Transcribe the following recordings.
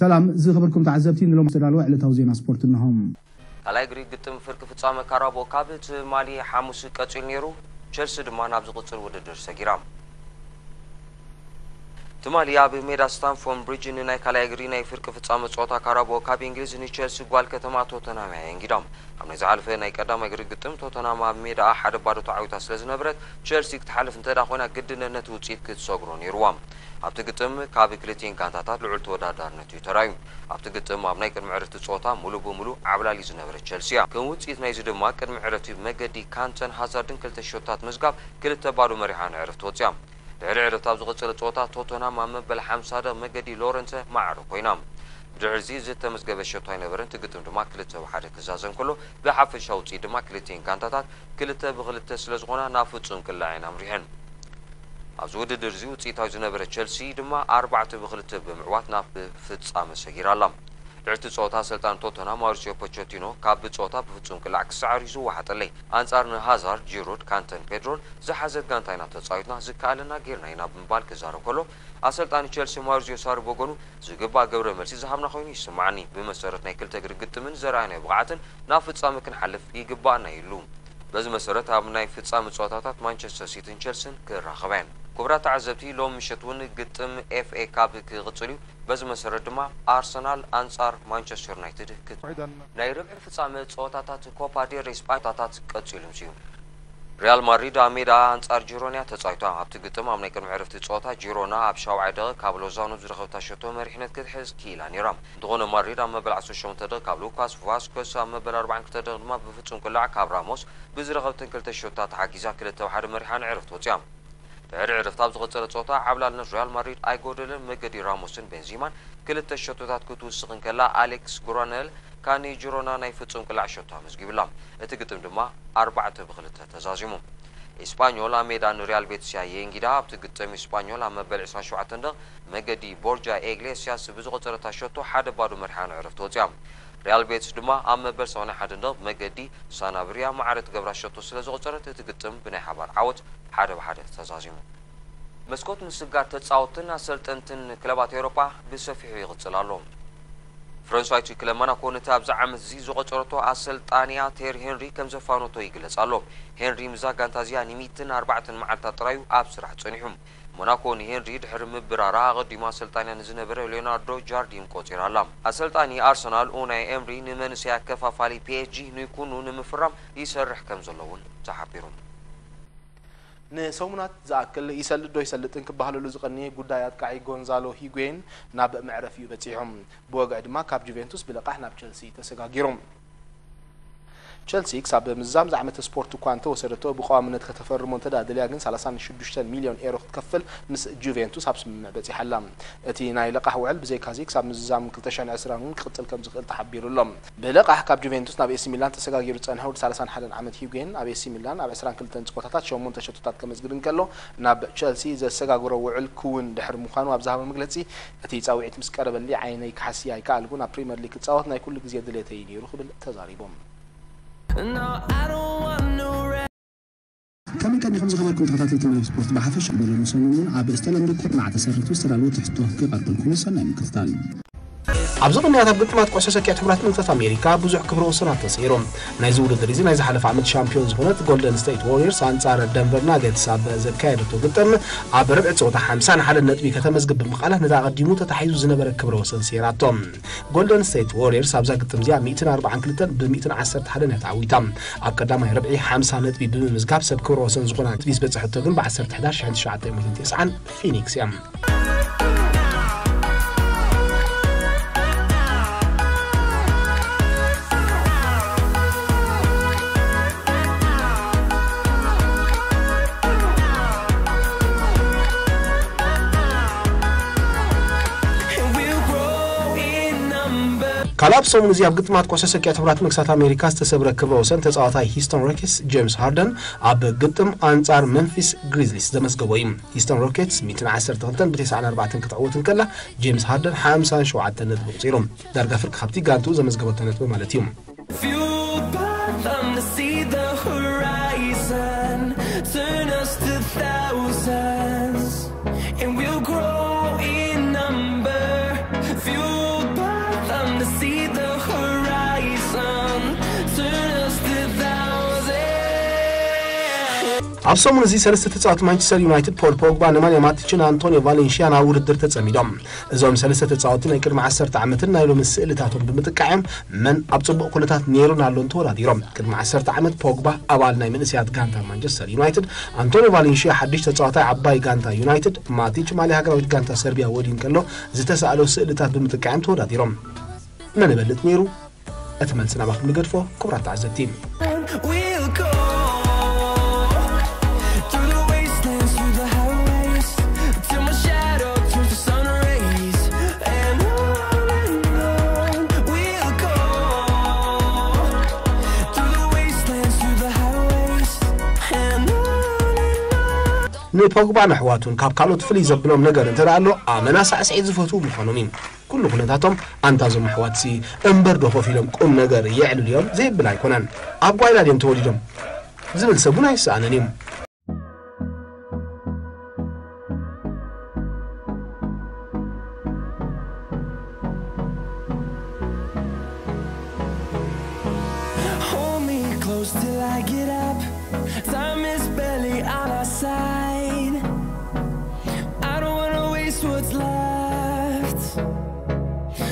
ሰላም ዝኸበርኩም ተዓዘብቲ፣ ንሎም ዝተዳለወ ዕለታዊ ዜና ስፖርት እነሆም። ካልኣይ እግሪ ግጥም ፍርቂ ፍጻመ ካራቦ ካፕ ትማሊ ሓሙስ ቀጺሉ ነይሩ። ቸልሲ ድማ ናብ ዝቕጽል ውድድር ሰጊራ። ትማሊ ኣብ ሜዳ ስታምፎርድ ብሪጅ ንናይ ካልኣይ እግሪ ናይ ፍርቂ ፍጻመ ጸወታ ካራቦ ካፕ እንግሊዝ ንቸልሲ ጓል ከተማ ቶተንሃም እያ የንጊዳ። ኣብ ናይ ዝሓለፈ ናይ ቀዳማይ እግሪ ግጥም ቶተንሃም ኣብ ሜዳኣ ሓደ ባዶ ተዓዊታ ስለ ዝነበረት፣ ቸልሲ ክትሓልፍ እንተ ደኣ ኮይና ግድነት ነቲ ውጽኢት ክትሰግሮ ነይርዋ። ኣብቲ ግጥም ካብ ክልቲኤን ጋንታታት ልዑል ተወዳዳርነት እዩ ተራእዩ። ኣብቲ ግጥም ኣብ ናይ ቅድሚ ዕረፍቲ ጸወታ ሙሉ ብሙሉ ዓብላሊ ዝነበረ ቸልሲ እያ። ከም ውጽኢት ናይዚ ድማ ቅድሚ ዕረፍቲ ብመገዲ ካንተን ሃዛርድን ክልተ ሸቶታት ምዝጋብ ክልተ ባዶ መሪሓ ንዕረፍቲ ወጽያ። ድሕሪ ዕረፍቲ ኣብ ዝቐጸለ ጸወታ ቶተንሃም ኣብ መበል ሓምሳ ደቕ መገዲ ሎረንተ ማዕረ ኮይና። ብድሕሪዚ ዝተመዝገበ ሸቶ ኣይነበረን። እቲ ግጥም ድማ ክልተ ብሓደ ክዛዘም ከሎ ብሓፈሻ ውጽኢት ድማ ክልቲኤን ጋንታታት ክልተ ብክልተ ስለ ዝኾና ናብ ፍጹም ቅላዕ እየን ኣምሪሐን። ኣብዚ ውድድር እዚ ውጽኢታዊ ዝነበረ ቸልሲ ድማ ኣርባዕተ ብክልተ ብምዕዋት ናብ ፍጻመ ሰጊራ ኣላ። ድሕርቲ ጸወታ ኣሰልጣኒ ቶተንሃም ማውሪሲዮ ፖቸቲኖ ካብ ጸወታ ብፍጹም ቅላዕ ክሰዓር እዩ ዝወሓጠለይ። ኣንጻር ንሃዛርድ፣ ጂሩድ፣ ካንተን ፔድሮን ዝሓዘት ጋንታ ኢና ተጻዊትና፣ ዝከኣለና ጌርና ኢና ብምባል ክዛረብ ከሎ፣ ኣሰልጣኒ ቸልሲ ማውሪሲዮ ሳሪ ብወገኑ ዝግባእ ግብረ መልሲ ዝሃብና ኮይኑ ይስምዓኒ። ብመሰረት ናይ ክልተ እግሪ ግጥምን ዘርኣናዮ ብቕዓትን ናብ ፍጻመ ክንሓልፍ ይግባኣና እዩ ኢሉ። በዚ መሰረት ኣብ ናይ ፍጻመ ጸወታታት ማንቸስተር ሲቲን ቸልሲን ክራኸባ እየን። ክቡራት ተዓዘብቲ፣ ሎም ምሸት እውን ግጥም ኤፍ ኤ ካፕ ክቕጽል እዩ። በዚ መሰረት ድማ ኣርሰናል ኣንጻር ማንቸስተር ዩናይትድ ክት ናይ ርብዒ ፍጻመ ጸወታታት ኮፓ ዴል ሬይ ስጳኛ ጸወታታት ቀጺሉ እዩ። ሪያል ማድሪድ ኣብ ሜዳ ኣንጻር ጂሮና ተጻዊታ። ኣብቲ ግጥም ኣብ ናይ ቅድሚ ዕረፍቲ ጸወታ ጂሮና ኣብ ሻውዓይ ደቂቕ ካብ ሎዛኖ ዝረኸብታ ሸቶ መሪሕነት ክትሕዝ ክኢላ ነይራ። እንተኾነ ማድሪድ ኣብ መበል ዓሰርተ ሸሞንተ ደቂቕ ካብ ሉካስ ቫስኮስ ኣብ መበል ኣርባዓን ክልተ ደቂቕ ድማ ብፍጹም ቅላዕ ካብ ራሞስ ብዝረኸብተን ክልተ ሸቶታት ተሓጊዛ ክልተ ብሓደ መሪሓ ንዕረፍቲ ወጽያ። ድሕሪ ዕረፍቲ ኣብ ዝቐጸለ ጸወታ ዓብላልነት ሪያል ማድሪድ ኣይጎደለን። መገዲ ራሞስን ቤንዚማን ክልተ ሸቶታት ክትውስኽ እንከላ፣ ኣሌክስ ጉራነል ካኒ ጂሮና ናይ ፍጹም ቅላዕ ሸቶ ኣመዝጊቡላ። እቲ ግጥም ድማ ኣርባዕተ ብክልተ ተዛዚሙ። ኢስፓኞል ኣብ ሜዳ ንሪያል ቤቲስ እያ የእንጊዳ። ኣብቲ ግጥም ኢስፓኞል ኣብ መበል ዕስራን ሸውዓተን ደቕ መገዲ ቦርጃ ኤግሌሲያስ ብዝቐጸረታ ሸቶ ሓደ ባዶ መሪሓ ንዕረፍቲ ወጽያ። ሪያል ቤቲስ ድማ ኣብ መበል ሰማንያን ሓደን ደቕ መገዲ ሳናብሪያ ማዕረ ትገብራ ሸቶ ስለ ዝቐጸረት እቲ ግጥም ብናይ ሓባር ዓወት ሓደ ብሓደ ተዛዚሙ። መስኮት ምስጋር ተጻወትን ኣሰልጠንትን ክለባት ኤውሮጳ ብሰፊሑ ይቕጽል ኣሎ። ፈረንሳዊት ክለብ ሞናኮ ነቲ ኣብዚ ዓመት እዚ ዝቖጸረቶ ኣሰልጣኒያ ቴሪ ሄንሪ ከም ዘፋነቶ ይግለጽ ኣሎ። ሄንሪ ምስዛ ጋንታ እዚኣ ንሚእትን ኣርባዕተን መዓልታት ጥራዩ ኣብ ስራሕ ጸኒሑ። ሞናኮ ንሄንሪ ድሕሪ ምብራራ ኣቐዲሙ ኣሰልጣኒያ ንዝነበረ ሊዮናርዶ ጃርዲን ቆጺራ ኣላ። ኣሰልጣኒ ኣርሰናል ኡናይ ኤምሪ ንመንእሰይ ኣከፋፋሊ ፒ ኤስ ጂ ንኩኑ ንምፍራም ይሰርሕ ከም ዘሎ እውን ተሓቢሩ። ንሰሙናት ዝኣክል ይሰልጥ ዶ ይሰልጥን ክበሃለሉ ዝቐነየ ጉዳይ ኣጥቃዒ ጎንዛሎ ሂጉዌን ናብ መዕረፊኡ በጺሑ። ብወግዒ ድማ ካብ ጁቬንቱስ ብልቓሕ ናብ ቸልሲ ተሰጋጊሩ። ቸልሲ ክሳብ ምዝዛም ዝዓመተ ስፖርት እኳ እንተወሰደቶ፣ ብቐዋምነት ከተፈርሞ እንተ ደኣ ደልያ ግን ሰላሳን ሽዱሽተን ሚልዮን ኤሮ ክትከፍል ምስ ጁቬንቱስ ኣብ ስምምዕ በጺሓ ኣላ። እቲ ናይ ለቓሕ ውዕል ብዘይካዚ ክሳብ ምዝዛም ክልተ ሽሕን ዕስራን እውን ክቕጽል ከም ዝኽእል ተሓቢሩ ኣሎ። ብለቓሕ ካብ ጁቬንቱስ ናብ ኤሲ ሚላን ተሰጋጊሩ ዝጸንሐ ወዲ ሰላሳን ሓደን ዓመት ሂጉዌን ኣብ ኤሲ ሚላን ኣብ ዕስራን ክልተን ጸወታታት ሸሞንተ ሸቶታት ከመዝግብ እንከሎ፣ ናብ ቸልሲ ዘሰጋግሮ ውዕል ክውን ድሕሪ ምዃኑ ኣብ ዝሃቦ መግለጺ፣ እቲ ጻውዒት ምስ ቀረበሊ ዓይነይ ክሓሲ ኣይከኣልኩን፣ ኣብ ፕሪምየር ሊግ ክጻወት ናይ ኩሉ ግዜ ድሌተይ እዩ ነይሩ ክብል ተዛሪቡ። ከመይ ቀኒኹም ዝኸበርኩም ተኸታተልቲ መደብ ስፖርት ብሓፈሻ? በሎም ሰሙን እውን ኣብ ዝተለምዶ ኩርናዕ ተሰሪቱ ዝተዳለወ ትሕዝቶ ክቐርበልኩም እዩ። ሰናይ ምክትታል። ኣብዚ ቅንያት ኣብ ግጥማት ኩዕሶ ሰኪዐት ሕቡራት መንግስታት ኣሜሪካ ብዙሕ ክብረ ወሰናት ተሰይሮም። ናይዚ ውድድር እዚ ናይ ዝሓለፈ ዓመት ሻምፒዮን ዝኾነት ጎልደን ስቴት ዋሪየርስ ኣንጻር ደንቨር ናገትስ ኣብ ዘካየደቶ ግጥም ኣብ ርብዒ ጸወታ ሓምሳን ሓደን ነጥቢ ከተመዝግብ ብምኽኣላ ነቲ ኣቐዲሙ ተታሒዙ ዝነበረ ክብረ ወሰን ሰይራቶ። ጎልደን ስቴት ዋሪየርስ ኣብዛ ግጥም እዚኣ ሚእትን ኣርባዓን ክልተን ብ ሚእትን ዓሰርተ ሓደን እያ ተዓዊታ። ኣብ ቀዳማይ ርብዒ ሓምሳ ነጥቢ ብምምዝጋብ ሰብ ክብረ ወሰን ዝኾና ነጥቢ ዝበጽሐቶ ግን ብ ዓሰርተ ሕዳር ሽሕን ትሽዓተ ሚእትን ተስዓን ፊኒክስ እያ። ካልእ ኣብ ሰሙን እዚ ኣብ ግጥማት ኩዕሶ ሰኪዐት ሕቡራት መንግስታት ኣሜሪካ ዝተሰብረ ክብረ ወሰን ተጻዋታይ ሂስቶን ሮኬትስ ጄምስ ሃርደን ኣብ ግጥም ኣንጻር መምፊስ ግሪዝሊስ ዘመዝገቦ እዩ። ሂስቶን ሮኬትስ ሚእትን ዓሰርተ ክልተን ብ ተስዓን ኣርባዕተን ክትዕወት እንከላ፣ ጄምስ ሃርደን ሓምሳን ሸውዓተን ነጥቢ ኣቑጺሩ። ዳርጋ ፍርቂ ካብቲ ጋንትኡ ዘመዝገበቶ ነጥቢ ማለት እዩ። Fueled by them to see the horizon, turn us to thousands, and we'll grow in number. Fueled ኣብ ሰሙን እዚ ሰለስተ ተጻወቲ ማንቸስተር ዩናይትድ፣ ፖል ፖግባ፣ ነማንያ ማቲችን ኣንቶኒዮ ቫሌንሽያ፣ ናብ ውድድር ተጸሚዶም። እዞም ሰለስተ ተጻወቲ ናይ ቅድሚ ዓሰርተ ዓመትን ናይ ሎሚ ስእልታቶም ብምጥቃዕም መን ኣብ ጽቡቕ ኩነታት ነይሩን ኣሎን ተወዳዲሮም። ቅድሚ ዓሰርተ ዓመት ፖግባ ኣባል ናይ መንእሰያት ጋንታ ማንቸስተር ዩናይትድ፣ ኣንቶኒዮ ቫሌንሽያ ሓድሽ ተጻዋታይ ዓባይ ጋንታ ዩናይትድ፣ ማቲች ማልያ ሃገራዊት ጋንታ ሰርቢያ ወዲን ከሎ ዝተሳእሎ ስእልታት ብምጥቃዕም ተወዳዲሮም። መን ይበልጥ ነይሩ? እቲ መልሲ ናባኹም ንገድፎ። ክቡራት ተዓዘብቲ፣ We'll go through the wastelands, through the highways, till my shadow turns to sun rays. And on and on we'll go through the wastelands, through the highways, and on and on. ንፖግባን ኣሕዋቱን ካብ ካልኦት ፍልይ ዘብሎም ነገር እንተ ደኣ ኣሎ፣ ኣመና ሳዕስዒት ዝፈትዉ ምዃኖም እዩ። ኩሉ ኩነታቶም፣ ኣንታ እዞም ኣሕዋትሲ እምበር ዶ ኮፍ ኢሎም ቁም ነገር የዕልሉ እዮም? ዘይብል ኣይኮነን። ኣብ ጓይላ ድዮም ተወሊዶም? ዝብል ሰብ እውን ኣይሰኣንን እዩ። Hold me close till I get up. Time is barely on our side. I don't wanna waste what's left.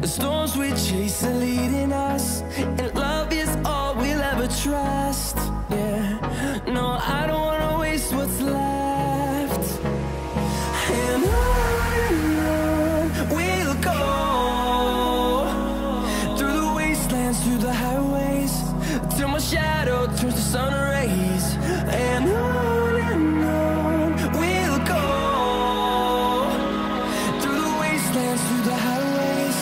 The storms we chase are leading us, and love is all we'll ever trust. Yeah, no, I don't wanna waste what's left. And on and on we'll go, through the wastelands, through the highways, till my shadow turns to sun rays. And on and on we'll go, through the wastelands, through the highways,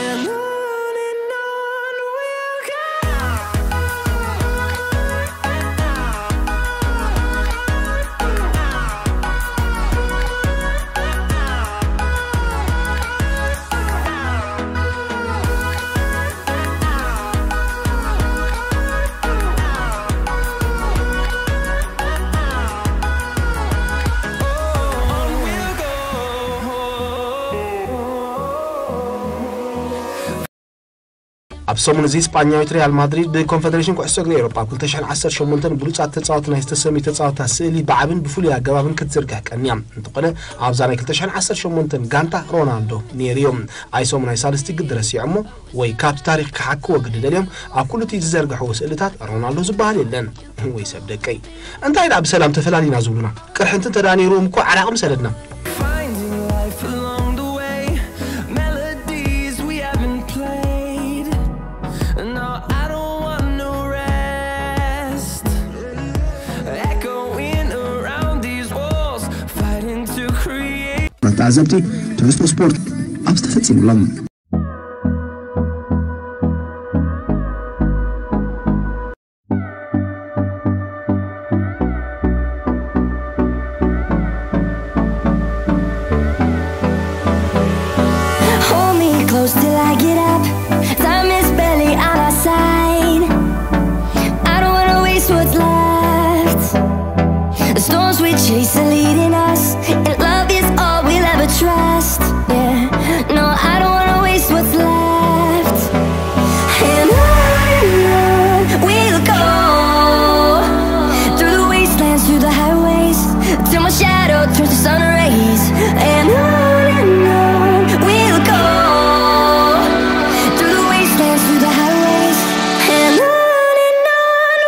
and on and on we'll go. ኣብ ሰሙን እዚ ስጳኛዊት ሪያል ማድሪድ ብኮንፈደሬሽን ኩዕሶ እግሪ ኤውሮጳ ኣብ ክልተ ሽሕን ዓሰርተ ሸሞንተን ብሉጻት ተጻወቲ ናይ ዝተሰምዩ ተጻወትታ ስእሊ ብዓብን ብፍሉይ ኣገባብን ክትዝርግሕ ቀንያ። እንተኾነ ኣብዛ ናይ ክልተ ሽሕን ዓሰርተ ሸሞንተን ጋንታ ሮናልዶ ነይሩ እዩ። ኣይ ሰሙን ኣይ ሳልስቲ ግዲ ረሲዖሞ ወይ ካብቲ ታሪኽ ክሓክዎ ግዲ ደልዮም ኣብ ኩሉ እቲ ዝዘርግሕዎ ስእልታት ሮናልዶ ዝበሃል የለን። ወይ ሰብ ደቀይ፣ እንታይ ደኣ ብሰላም ተፈላሊና ዝብሉና? ቅርሕንቲ እንተ ደኣ ነይርዎም እኮ ዓራቕ ምሰደድና። Finding life along the way, melodies we haven't played. No, I don't want no rest. Echoing around these walls, fighting to create. ተዓዘብቲ፣ ትሕዝቶ ስፖርት ኣብዚ ተፈጺሙ ኣሎ። Hold me close till I get up. Time is barely on our side. I don't wanna waste what's left. The storms we chase are leading us, and love is all we'll ever trust. Yeah, no, I don't wanna waste what's left. And on and on we'll go, through the wastelands, through the highways, till my shadow turns to sun rays. And on and on we'll go, through the wastelands, through the highways, and on and on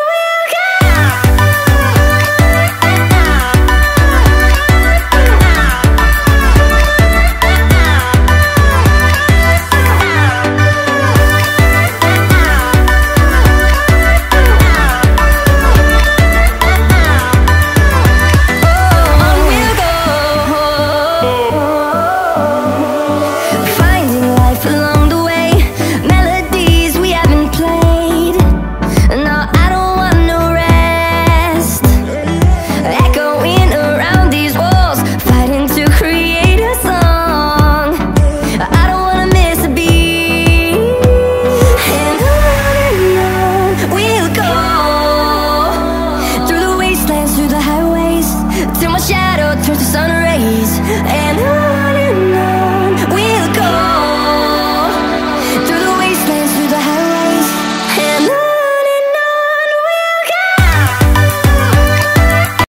we'll go. Finding life along the way, melodies we haven't played. No, I don't want no rest. Echoing around these walls, fighting to create a song. I don't wanna miss a beat. And on and on we'll go, through the wastelands, through the highways, till my shadow turns to sun rays. And on